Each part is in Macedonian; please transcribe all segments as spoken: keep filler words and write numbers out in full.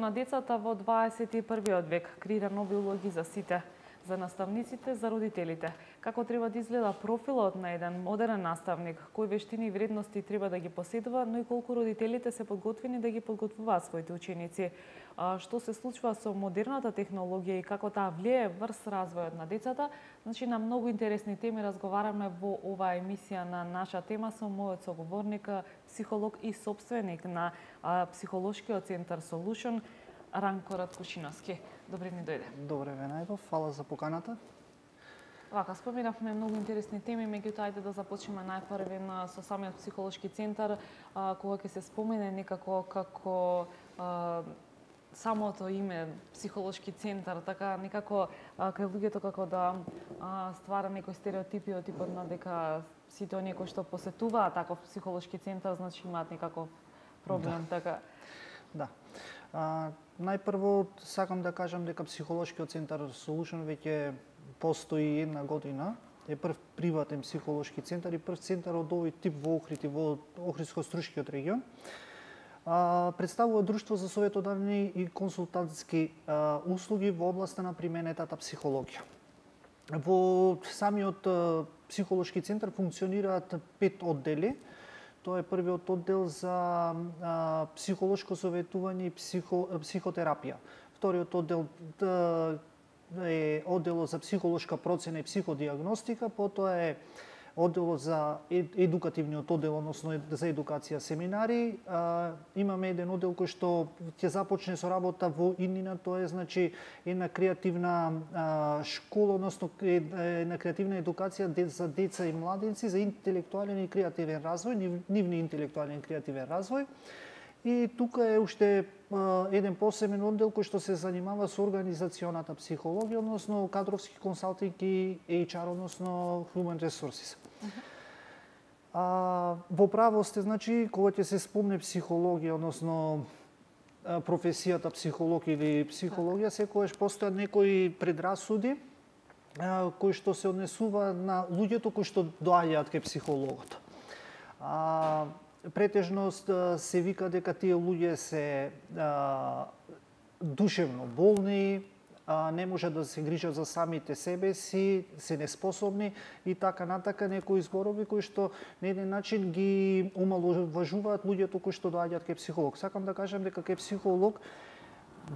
на децата во дваесет и првиот век креира нови улоги за сите, за наставниците, за родителите. Како треба да изгледа профилот на еден модерен наставник, кои вештини и вредности треба да ги поседува, но и колку родителите се подготвени да ги подготвуваат своите ученици. Што се случува со модерната технологија и како таа влијае врз развојот на децата. Значи, на многу интересни теми разговараме во оваа емисија на наша тема со мојот соговорник, психолог и собственик на психолошкиот центар Solution, Ранко Раткушиновски. Добре ни дојде. Добре ве најдов, фала за поканата. Вака, споменавме многу интересни теми, меѓутоа ајде да започнеме најпрви со самиот психолошки центар, а, кога ќе се спомене некако како а, самото име психолошки центар, така некако а, кај луѓето како да а, ствара некои стереотипи од типот на дека сите оние кои што посетуваат таков психолошки центар, значи имаат некаков проблем, да. така. Да. А, најпрво сакам да кажам дека психолошкиот центар Solution веќе постои една година. Е прв приватен психолошки центар и прв центар од овој тип во Охрид и во Охридско-Струшкиот регион. А, представува друштво за советодавни и консултантски а, услуги во областа на применетата психологија. Во самиот а, психолошки центар функционираат пет оддели. Тоа е првиот оддел за а, психолошко советување и психо, психотерапија. Вториот оддел да, е одделот за психолошка процена и психодиагностика, потоа е одделот за едукативниот оддел, односно за едукација семинари. А, имаме еден оддел кој што ќе започне со работа во иднина, тоа е значи една креативна а, школа, односно една креативна едукација за деца и младенци за интелектуален и креативен развој, нив, нивни интелектуален и креативен развој. И тука е уште а, еден посебен оддел кој што се занимава со организационата психологија, односно кадровски консалтинг и Ейч Ар, односно Human Resources. Uh -huh. А, во право сте, значи, кога ќе се спомне психологија, односно професијата психолог или психологија, секогаш постојат некои предрасуди а, кои што се однесува на луѓето кои што доаѓаат кај психологот. А, Претежно се вика дека тие луѓе се а, душевно болни, а, не можат да се грижат за самите себе си, се неспособни и така натака, некои зборови кои што на еден начин ги омаловажуваат луѓето кои што доаѓаат кај психолог. Сакам да кажам дека кај психолог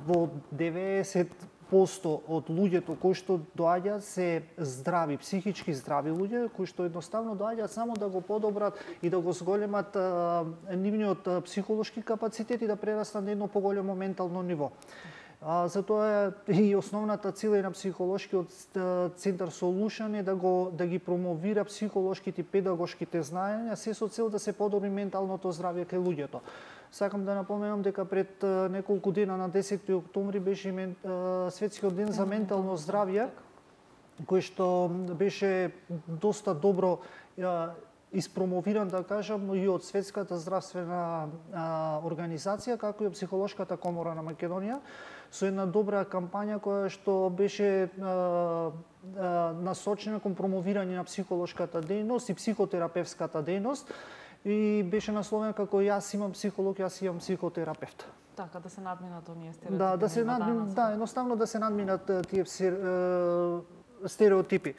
во деветдесет проценти од луѓето кои што доаѓаат се здрави, психички здрави луѓе, кои што едноставно доаѓаат само да го подобрат и да го зголемат а, нивниот а, психолошки капацитет и да прерастат на едно поголемо ментално ниво. А, затоа и основната цел на психолошкиот центар Solution е да го да ги промовира психолошките и педагошките знаења, се со цел да се подобри менталното здравје кај луѓето. Сакам да напоменам дека пред а, неколку дена на десети октомври беше мен, а, светскиот ден за ментално здравје, кој што беше доста добро а, испромовиран, да кажам, и од Светската здравствена а, организација, како и од Психолошката комора на Македонија, со една добра кампања која што беше а, а, насочена кон промовирање на психолошката дејност и психотерапевската дејност, и беше насловена како јас имам психолог, јас имам психотерапевт. Така, да се надминат оние стереотипи. Да, да се надминат, да, едноставно да се надминат тие стереотипи.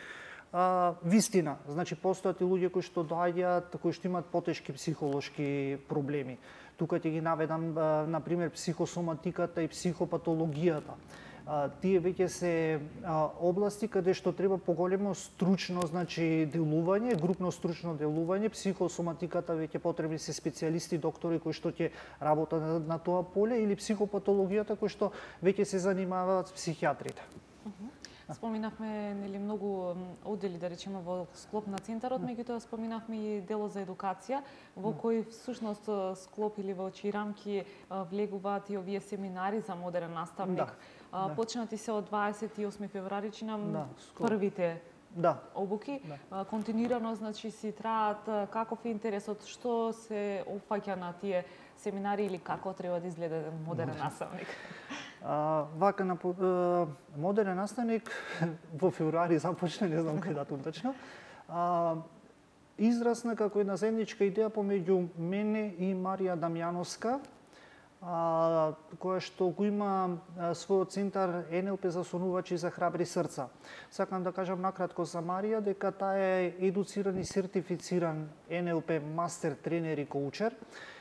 А, вистина, значи постојат и луѓе кои што доаѓаат, кои што имаат потешки психолошки проблеми. Тука ќе ги наведам, на пример, психосоматиката и психопатологијата. А, тие веќе се а, области каде што треба поголемо стручно, значи, делување, групно стручно делување. Психосоматиката веќе потребни се специјалисти, доктори кои што ќе работат на, на тоа поле, или психопатологијата кои што веќе се занимаваат с психијатрите. Uh -huh. Споминавме нели многу оддели, да речеме, во склоп на центарот, меѓутоа споминавме и делот за едукација, во кој всушност склоп или во чии рамки влегуваат и овие семинари за модерен наставник. Да, да. Почнати се од дваесет и осми февруари, чинам, да, првите да. обуки. Да. Континуирано, значи, си траат. Каков е интересот, што се опфаќа на тие семинари или како треба да изгледа еден модерен наставник? А, вака на а, модерен наставник во февруари започна, не знам кој датум точно. А, израсна како една заедничка идеја помеѓу мене и Марија Дамјановска, а, која што го има а, својот центар Ен Ел Пе за сонувачи за храбри срца. Сакам да кажам накратко за Марија дека таа е едуциран и сертифициран Ен Ел Пе мастер тренер и коучер.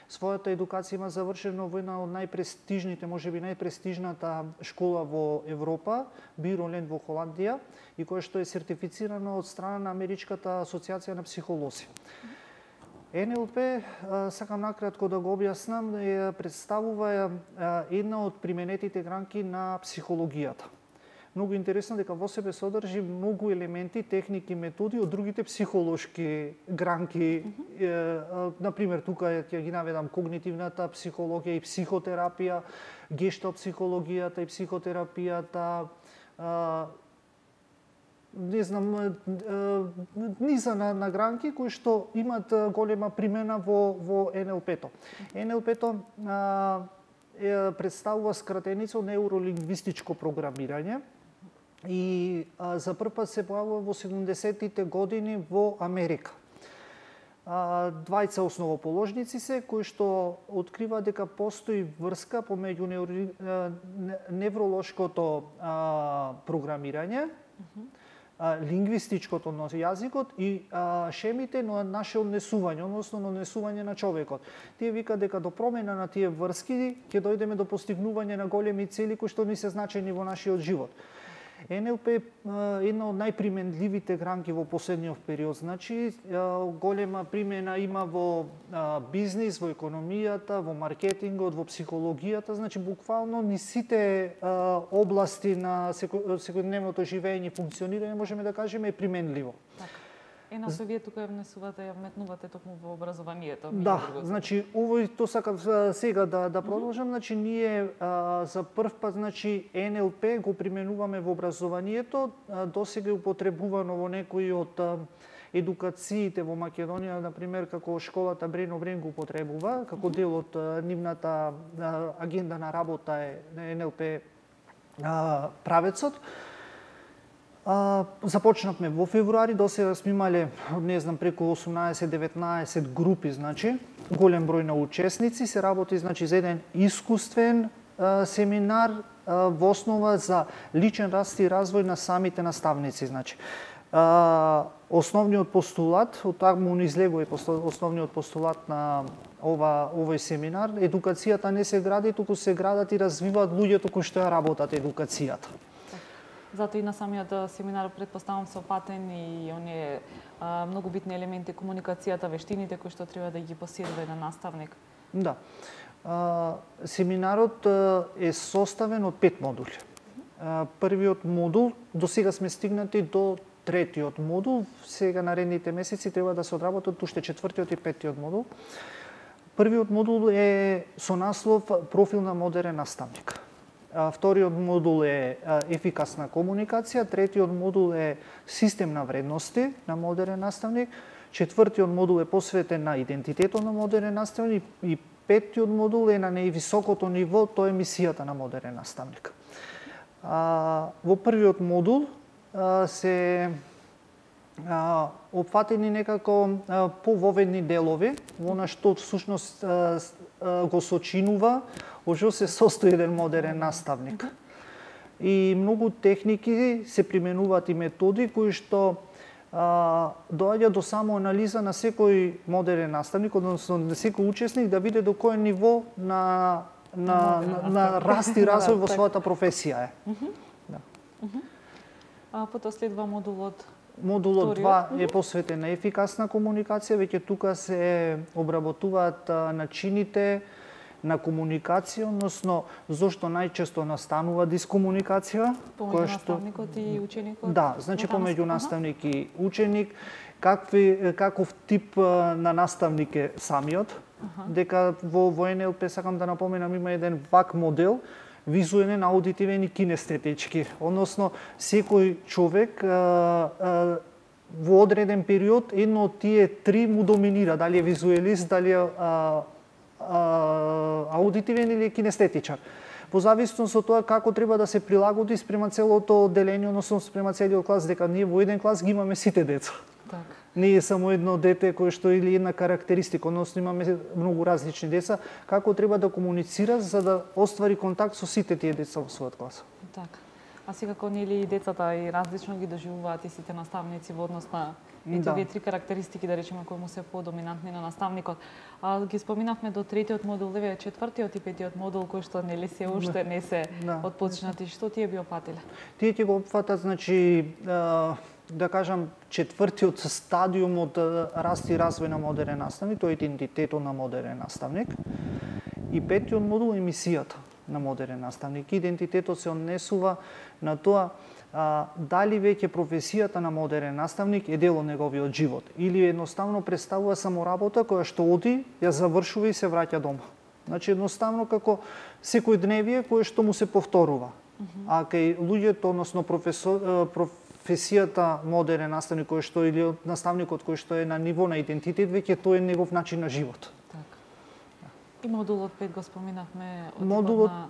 Својата едукација има завршено во една од најпрестижните, можеби најпрестижната школа во Европа, Бироленд во Холандија, и која што е сертифицирана од страна на Америчката асоциација на психолози. Ен Ел Пе, сакам накратко да го објаснам, представува една од применетите гранки на психологијата. Многу интересно дека во себе содржи многу елементи, техники, методи од другите психолошки гранки. Mm -hmm. е, например, тука ќе ги наведам когнитивната психологија и психотерапија, гешталт психологијата и психотерапијата, е, не знам, низа на, на гранки кои што имат голема примена во, во Ен Ел Пе-то. Ен Ел Пе-то представува скратеница неуролингвистичко програмирање и а, за прв пат се појавува во седумдесеттите години во Америка. А, двајца основоположници се кои што открива дека постои врска помеѓу неури, невролошкото а, програмирање, uh-huh. лингвистичкото на јазикот и а, шемите на наше однесување, односно на однесување на човекот. Тие викаат дека до промена на тие врски ќе дојдеме до постигнување на големи цели кои што ни се значајни во нашиот живот. Ен Ел Пе е една од најприменливите гранки во последниот период. Значи, голема примена има во бизнис, во економијата, во маркетингот, во психологијата. Значи, буквално ни сите области на секојдневното живење и функционирање, можеме да кажеме, е применливо. Така. Ен Ел Пе вие тука ја внесувате, ја вметнувате токму во образованието. Да, значи овој тоа сакав сега да да продолжам, значи ние а, за прв пат значи Ен Ел Пе го применуваме во образованието, досега е употребувано во некои од а, едукациите во Македонија, на пример како школата Брено Брен го употребува, како дел од а, нивната а, агенда на работа е на Ен Ел Пе а, правецот. А, започнавме во февруари, досега сме имале, не знам, преку осумнаесет-деветнаесет групи, значи, голем број на учесници, се работи, значи, за еден искуствен а, семинар а, во основа за личен раст и развој на самите наставници, значи. А, основниот постулат, од таму ни излегува основниот постулат на ова овој семинар, едукацијата не се гради, туку се градат и развиваат луѓето кои што ја работат едукацијата. Затоа и на самиот семинар претпоставам се опатен и оние а, многу битни елементи комуникацијата, вештините кои што треба да ги поседува на наставник. Да. А, семинарот а, е составен од пет модули. А, првиот модул, до сега сме стигнати до третиот модул, сега наредните месеци треба да се одработат уште четвртиот и петтиот модул. Првиот модул е со наслов профил на модерен наставник. Вториот модул е ефикасна комуникација, третиот модул е систем на вредности на модерен наставник, четвртиот модул е посветен на идентитетот на модерен наставник и петтиот модул е на највисокото ниво, тоа е мисијата на модерен наставник. Во првиот модул се опфатени некако пововедни делови, во на што всушност го сочинува ошо се состои еден модерен наставник. И многу техники се применуваат и методи кои што а, доаѓа до самоанализа на секој модерен наставник, односно на секој учесник да види до кој ниво на на, на, на раст и развој во својата професија е. Да. А потоа следува модулот Модулот два е посветен на ефикасна комуникација, веќе тука се обработуваат начините на комуникација, односно зошто најчесто настанува дискомуникација, помеѓу наставникот и ученикот. Да, значи помеѓу наставник и ученик, какви каков тип на наставник е самиот, ага. Дека во во Ен Ел Пе сакам да напоменам има еден вак модел, визуелен, аудитивен и кинестетички. Односно, секој човек а, а, во одреден период едно од тие три му доминира, дали е визуелист, дали е а, а, аудитивен или кинестетичар. По зависност од тоа како треба да се прилагоди спрема целото одделение, односно спрема целиот клас, дека ние во еден клас ги имаме сите деца. Така. Не е само едно дете кое што или една карактеристика, односно имаме многу различни деца, како треба да комуницира за да оствари контакт со сите тие деца во својот клас. Така. А секако нели и децата и различно ги доживуваат и сите наставници во однос на ето овие три карактеристики, да речеме, кои му се подоминантни на наставникот. А ги споминавме до третиот модул, еве четвртиот и петиот модул кои што нели се уште не се да. Отпочнати. Што тие би опфатиле? Тие ќе го опфатат, значи, да кажам, четвртиот стадиум од раст и развој на модерен наставник, тоа е идентитетот на модерен наставник. И петиот модул е мисијата на модерен наставник. Идентитетот се однесува на тоа а, дали веќе професијата на модерен наставник е дел од неговиот живот или едноставно представува само работа која што оди, ја завршува и се враќа дома. Значи едноставно како секој дневие кое што му се повторува. Uh -huh. А кај луѓето, односно професор, професијата модерен наставник кој што или наставникот кој што е на ниво на идентитет, веќе тој е негов начин на живот. И модулот пет го споминавме. Модулот на...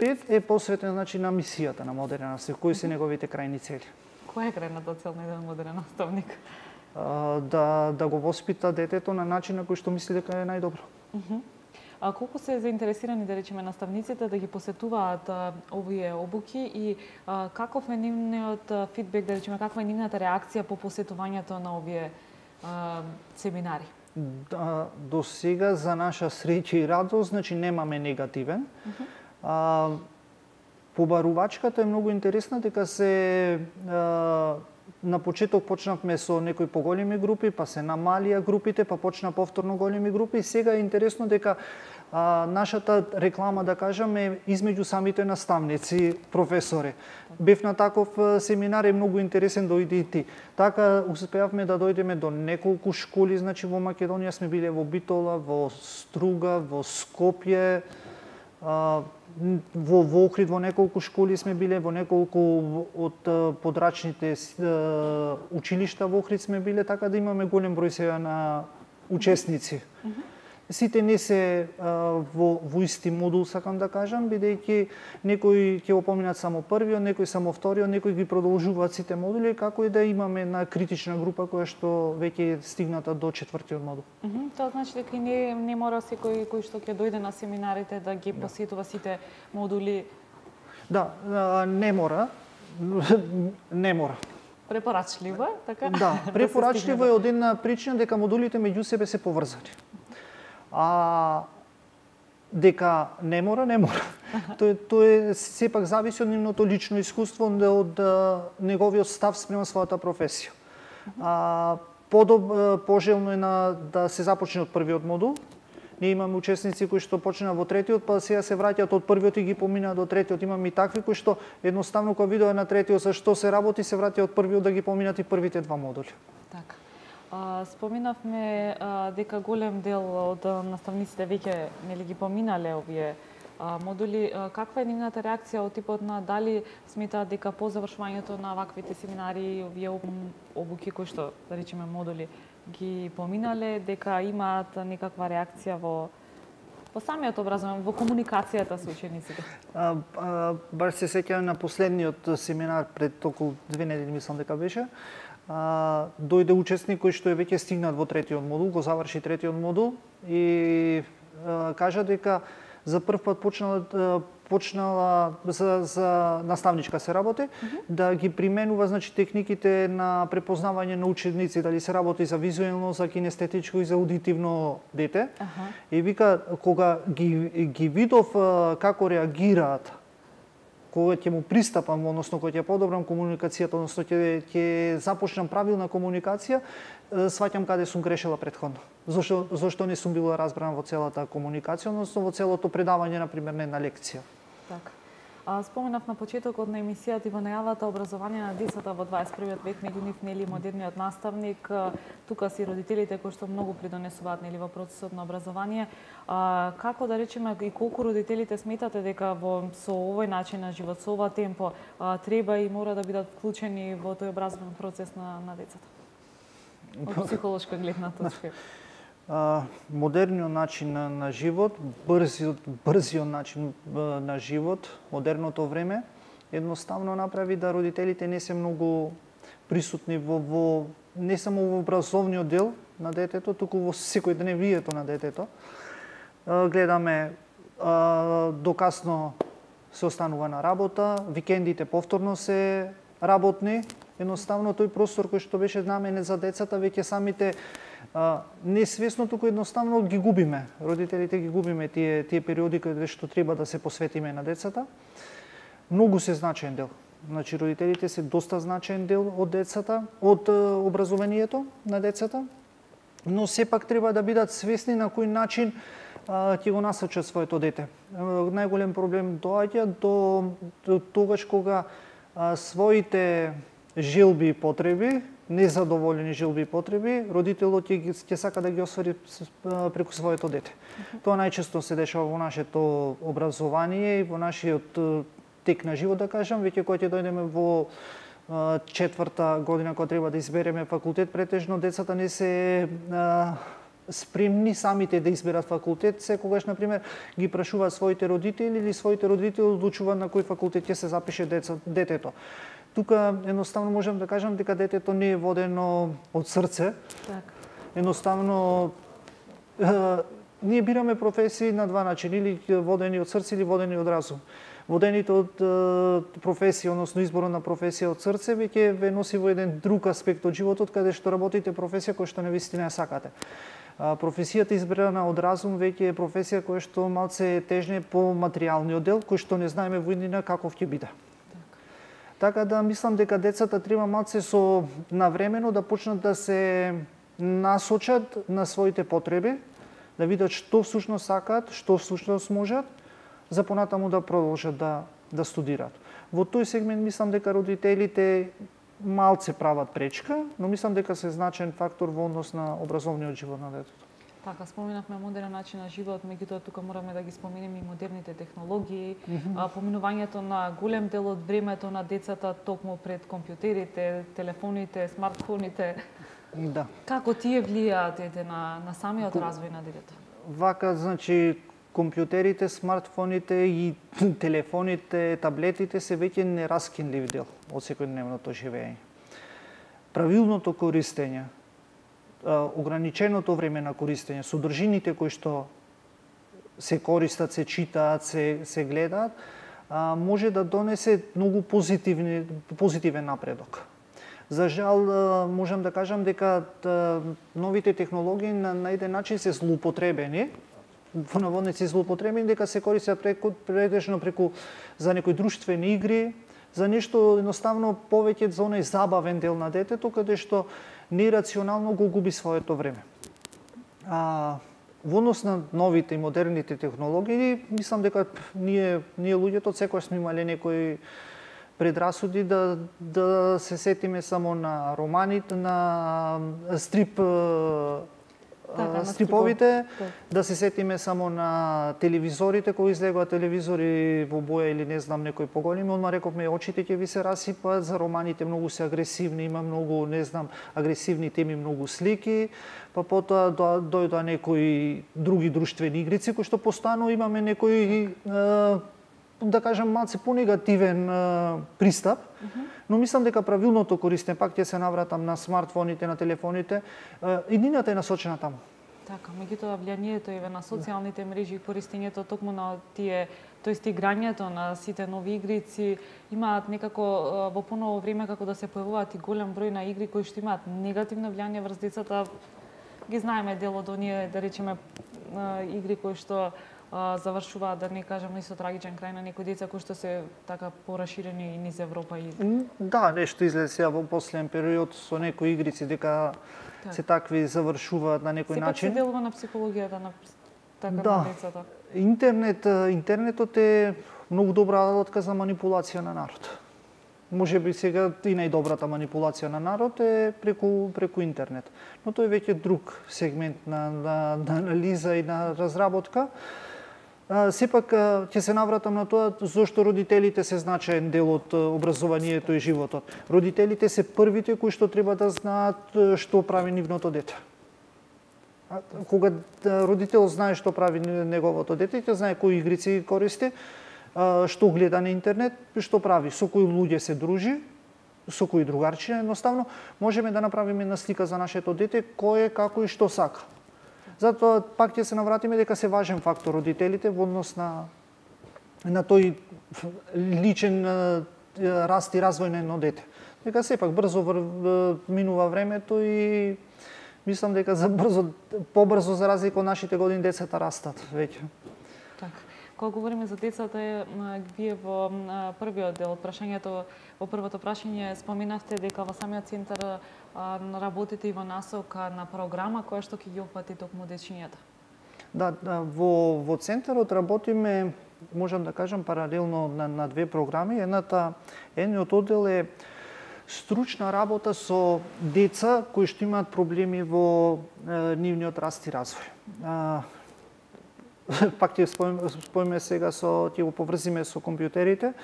пет е посветен, значи, на мисијата на модерен наставник, кои се неговите крајни цели. Која е крајната цел на еден модерен наставник? А, да, да го воспита детето на начин на кој што мисли дека е најдобро. Uh -huh. А колку се заинтересирани, да речеме, наставниците да ги посетуваат а, овие обуки и а, каков е нивниот фидбек, да речеме, каква е нивната реакција по посетувањето на овие а, семинари? Да, до сега за наша среќа и радост, значи немаме негативен. Uh -huh. а, побарувачката е многу интересна, дека се а, на почеток почнавме со некои поголеми групи, па се намалија групите, па почна повторно големи групи и сега е интересно дека а, нашата реклама, да кажам, е измеѓу самите наставници, професори. Бев на таков семинар, е многу интересен, дојди и ти. Така успеавме да дојдеме до неколку школи, значи во Македонија сме биле во Битола, во Струга, во Скопје, а, во во Охрид, во неколку школи сме биле, во неколку од подрачните училишта во Охрид сме биле, така да имаме голем број сега на учесници. Uh -huh. Сите не се а, во, во исти модул, сакам да кажам, бидејќи некои ќе го поминат само првиот, некои само вториот, некои ги продолжуваат сите модули, како и да имаме една критична група која што веќе е стигната до четвртиот модул. Uh -huh. Тоа значи дека не, не мора секој кој што ќе дојде на семинарите да ги посетува сите модули? Да, не мора. Не мора. Препорачливо е, така? Да, препорачливо е од една причина дека модулите меѓу себе се поврзани. А дека не мора, не мора. Тој тој сепак зависи од нивното лично искуство, од неговиот став спрема својата професија. А подоб пожелно е на да се започне од првиот модул. Ние имаме учесници кои што почнаа во третиот, па сега се враќаат од првиот и ги поминаа до третиот. Имаме и такви кои што едноставно кога видоа на третиот за што се работи, се враќаат од првиот да ги поминат и првите два модули. Така. А, споминавме а, дека голем дел од наставниците веќе нели ги поминале овие а, модули. А, каква е нивната реакција од типот на дали сметаат дека по завршувањето на ваквите семинари, овие обуки кои што, да речеме, модули ги поминале, дека имаат некаква реакција во во самиот образование, во комуникацијата со учениците? А, а, баш се сеќавам на последниот семинар пред околу две недели, мислам дека беше. А, дојде учесник кој што е веќе стигнат во третиот модул, го заврши третиот модул и а, кажа дека за прв пат почнала почнала за, за наставничка се работи, mm -hmm. да ги применува, значи, техниките на препознавање на ученици, дали се работи за визуелно, за кинестетичко и за аудитивно дете. Uh -huh. И вика, кога ги, ги видов како реагираат, кога ќе му пристапам, односно кога ќе подобрам комуникацијата, односно ќе ќе започнам правилна комуникација, сваќам каде сум грешила претходно. Зошто зошто не сум била разбрана во целата комуникација, односно во целото предавање, на пример, на една лекција. Така. А, споменав на почетокот на емисијата и во најавата образование на децата во дваесет и првиот век, меѓу нив нели модерниот наставник, тука си родителите кои што многу придонесуваат нели во процесот на образование. А, како да речеме и колку родителите сметате дека во со овој начин на живот, со ова темпо, а, треба и мора да бидат вклучени во тој образовен процес на на децата? Од психолошка гледна точка. Uh, модерниот начин на, на живот, брзиот, брзиот начин uh, на живот, модерното време, едноставно направи да родителите не се многу присутни во, во не само во образовниот дел на детето, туку во секојдневието на детето. Гледаме до касно се останува на работа, викендите повторно се работни. Едноставно тој простор кој што беше наменет за децата, веќе самите а, несвесно, туку едноставно ги губиме. Родителите ги губиме тие тие периоди каде што треба да се посветиме на децата. Многу се значаен дел. Значи родителите се доста значаен дел од децата, од образованието на децата, но сепак треба да бидат свесни на кој начин ќе го насочат своето дете. Најголем проблем доаѓа до, до тогаш кога а, своите желби и потреби, незадоволени желби и потреби, родителот ќе, ќе сака да ги оствари преку своето дете. Uh-huh. Тоа најчесто се дешава во нашето образование и во нашиот тек на живот, да кажам, веќе кога ќе дојдеме во четврта година кога треба да избереме факултет, претежно децата не се а, спремни самите да изберат факултет, секогаш, например, ги прашуваат своите родители или своите родители одлучуваат на кој факултет ќе се запише деца, детето. Тука едноставно можам да кажам дека детето не е водено од срце. Так. Едноставно е, ние бираме професии на два начини, или водени од срце или водени од разум. Водените од е, професија, односно изборот на професија од срце, веќе ве носи во еден друг аспект од животот, каде што работите професија која што навистина ја сакате. А, професијата избрана од разум веќе е професија која што малце тежне по материјалниот дел, кој што не знаеме во иднина каков ќе биде. Така да мислам дека децата треба малце со навремено да почнат да се насочат на своите потреби, да видат што всушност сакаат, што всушност можат, за понатаму да продолжат да да студираат. Во тој сегмент мислам дека родителите малце прават пречка, но мислам дека се значаен фактор во однос на образовниот живот на детето. Така, споменавме модерен начин на живот, меѓутоа тука мораме да ги споменеме и модерните технологии, mm-hmm. а, поминувањето на голем дел од времето на децата токму пред компјутерите, телефоните, смартфоните. Да. Како тие влијаат на на самиот развој на детето? Вака, значи, компјутерите, смартфоните и телефоните, таблетите се веќе нераскинлив дел од секојдневното живење. Правилното користење, ограниченото време на користење, содржините кои што се користат, се читаат, се, се гледаат, може да донесе многу позитивни, позитивен напредок. За жал, можам да кажам дека новите технологии на, на еден начин се злоупотребени, во наводници злоупотребени, дека се користат преку, претежно преку за некои друштвени игри, за нешто едноставно повеќе за оној забавен дел на детето, каде што нерационално го губи своето време. А, во однос на новите и модерните технологии, мислам дека ние, ние луѓето секогаш сме имале некои предрасуди да, да се сетиме само на романите, на стрип Така, стриповите, да се сетиме само на телевизорите, кои излегуваат телевизори во боја или не знам некои поголеми, одма рековме очите ќе ви се расипаат, за романите многу се агресивни, има многу, не знам, агресивни теми, многу слики, па потоа дојдоа некои други друштвени игрици кои што постојано имаме некои да кажам малце понегативен пристап, uh-huh. но мислам дека правилното користење, пак ќе се навратам на смартфоните, на телефоните, иднината е насочена таму. Така, меѓутоа влијанието еве на социјалните мрежи и користењето токму на тие, тоест играњето на сите нови игрици имаат некако во поново време како да се појавуваат и голем број на игри кои што имаат негативно влијание врз децата. Ги знаеме дел од оние, да речеме, игри кои што завршуваат, да не кажам, и со трагичен крај на некои деца кои што се така пораширени и низ Европа и да, нешто излезе сега во последен период со некои игрици дека так. се такви завршуваат на некој Сепак начин. Сепак се делува на психологијата на така да. на децата. Интернет, интернетот е многу добра алатка за манипулација на народ. Може би сега и најдобрата манипулација на народ е преку преку интернет. Но тој веќе друг сегмент на, на, на анализа и на разработка. А, сепак ќе се навратам на тоа зошто родителите се значаен дел од образованието и животот. Родителите се првите кои што треба да знаат што прави нивното дете. А, кога родител знае што прави неговото дете, ќе знае кои игрици користи, што гледа на интернет, што прави, со кои луѓе се дружи, со кои другарчина, едноставно можеме да направиме една слика за нашето дете кој е, како и што сака. Затоа пак ќе се навратиме дека се важен фактор родителите во однос на на тој личен раст и развој на едно дете. Дека сепак брзо минува времето и мислам дека за брзо, побрзо за разлика од нашите години децата растат веќе. Така. Кога говориме за децата, вие во првиот дел од прашањето, во првото прашање споменавте дека во самиот центар работите и во насока на програма која што ќе ги опфати токму дечињата. Да, да, во во центарот работиме, можам да кажам, паралелно на, на две програми. Едната, едниот оддел е стручна работа со деца кои што имаат проблеми во е, нивниот раст и развој. А, пак ќе споиме сега со ќе го поврзиме со компјутерите.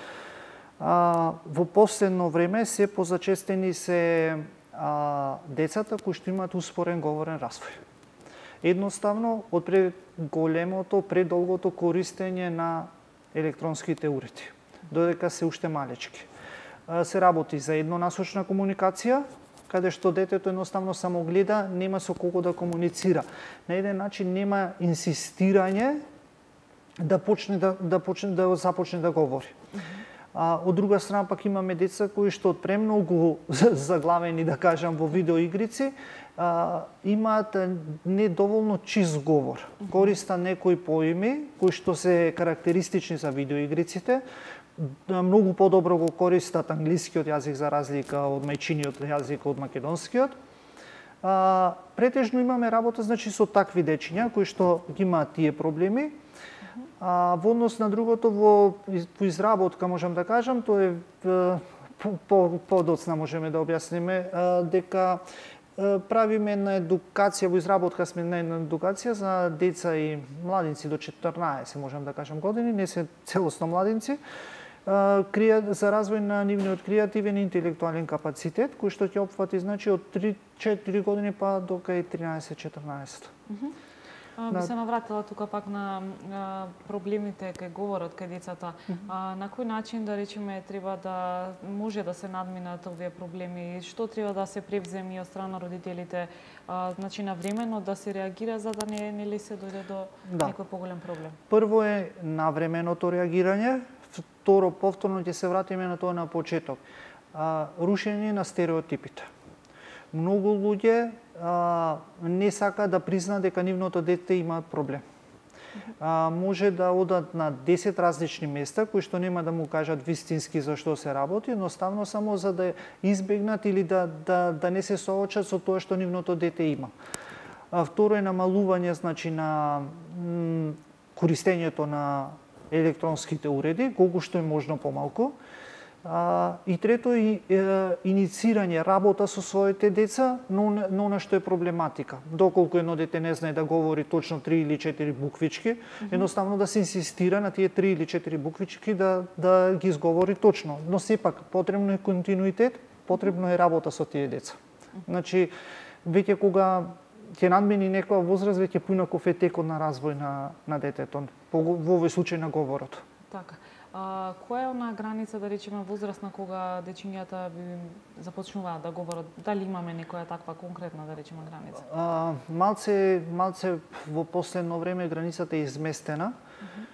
А, во последно време се позачестени се а, децата кои што имаат успорен говорен развој. Едноставно, од преголемото, предолгото користење на електронските уреди, додека се уште малечки. Се работи за еднонасочна комуникација, каде што детето едноставно само гледа, нема со кого да комуницира. На еден начин нема инсистирање да почне да, да, почне, да започне да говори. А, од друга страна пак имаме деца кои што од премногу заглавени, да кажам, во видеоигрици, а, имаат недоволно чист говор. Користа некои поими кои што се карактеристични за видеоигриците, многу подобро го користат англискиот јазик за разлика од мајчиниот јазик од македонскиот. А, претежно имаме работа значи со такви дечиња кои што ги имаат тие проблеми. А, во однос на другото, во, во изработка, можам да кажам, тоа е подоцна можеме да објасниме, а, дека а, правиме една едукација, во изработка сме на една едукација за деца и младинци до четрнаесет, можам да кажам, години, не се целосно младинци, а, за развој на нивниот креативен и интелектуален капацитет, кој што ќе опфати значи од три-четири години па до кај тринаесет-четрнаесет. Би се навратила тука пак на а, проблемите кај говорот кај децата. А, на кој начин, да речеме, треба да може да се надминат овие проблеми? Што треба да се превземи од страна родителите? А, значи, навремено да се реагира за да не, не ли се дојде до да. некој поголем проблем? Прво е навременото реагирање, второ, повторно ќе се вратиме на тоа на почеток. А, рушење на стереотипите. Многу луѓе а, не сака да призна дека нивното дете има проблем. А, може да одат на десет различни места кои што нема да му кажат вистински за што се работи, едноставно само за да избегнат или да, да, да не се соочат со тоа што нивното дете има. А, второ е намалување значи на м, користењето на електронските уреди, колку што е можно помалку. А, и трето е, е иницирање работа со своите деца, но, но на што е проблематика. Доколку едно дете не знае да говори точно три или четири буквички, mm -hmm. едноставно да се инсистира на тие три или четири буквички да, да ги изговори точно. Но сепак потребно е континуитет, потребно е работа со тие деца. Mm -hmm. Значи, веќе кога ќе надмени некоја возраст, веќе поинаков е текот на развој на, на детето, во овој случај на говорот. Така. А, која е она граница, да речеме, возрастна кога дечињата би започнуваат да говорат? Дали имаме некоја таква конкретна, да речеме, граница? А, малце, малце во последно време границата е изместена. Uh -huh.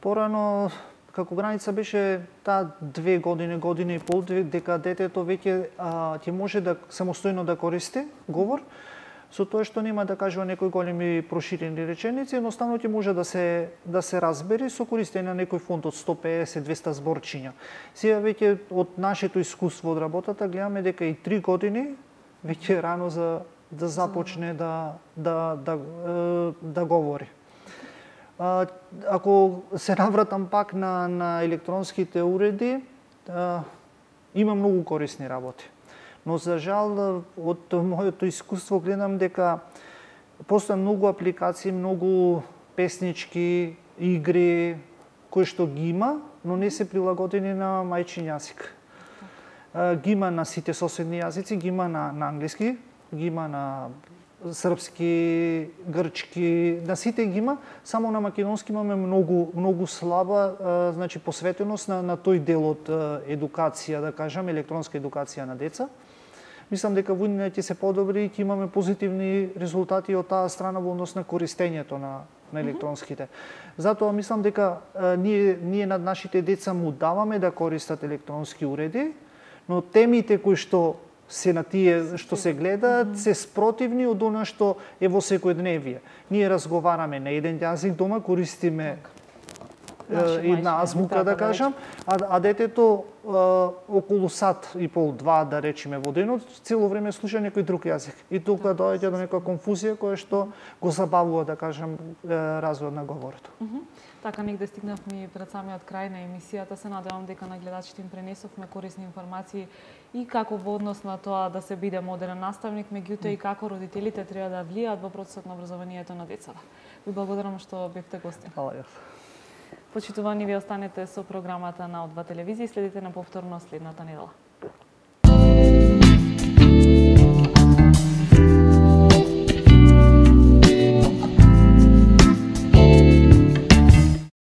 Порано, како граница беше таа две години, година и пол, дека детето веќе ќе може да самостојно да користи говор, со тоа што нема да кажува некои големи проширени реченици, едноставно ќе може да се да се разбери со користење на некој фонд од сто песет до двесте зборчиња. Сега веќе од нашето искуство од работата гледаме дека и три години веќе е рано за да започне да да да да, да говори. А, ако се навратам пак на на електронските уреди, а, има многу корисни работи. Но за жал од моето искуство гледам дека постојат многу апликации, многу песнички, игри кои што ги има, но не се прилагодени на мајчин јазик. Ги има на сите соседни јазици, ги има на, на англиски, ги има на српски, грчки, на сите ги има, само на македонски имаме многу многу слаба, значи посветеност на на тој дел од едукација, да кажам, електронска едукација на деца. Мислам дека во иднина ќе се подобри и ќе имаме позитивни резултати од таа страна во однос на користењето на на електронските. Затоа мислам дека а, ние ние над нашите деца му даваме да користат електронски уреди, но темите кои што се на тие што се гледаат mm -hmm. се спротивни од она што е во секојдневие. Ние разговараме на еден јазик дома, користиме една азбука, да кажам, а, а детето а, околу сат и пол, два, да речеме, во денот, цело време слуша некој друг јазик. И тука доаѓа до некоја конфузија која што го забавува, да кажам, развојот на говорот. Mm -hmm. Така негде стигнавме пред самиот крај на емисијата. Се надевам дека на гледачите им пренесовме корисни информации и како во однос на тоа да се биде модерен наставник, меѓутоа и како родителите треба да влијаат во процесот на образованието на децата. Ви благодарам што бевте гости. Фала јас. Почитувани, ви останете со програмата на О два телевизија и следите на повторно следната недела.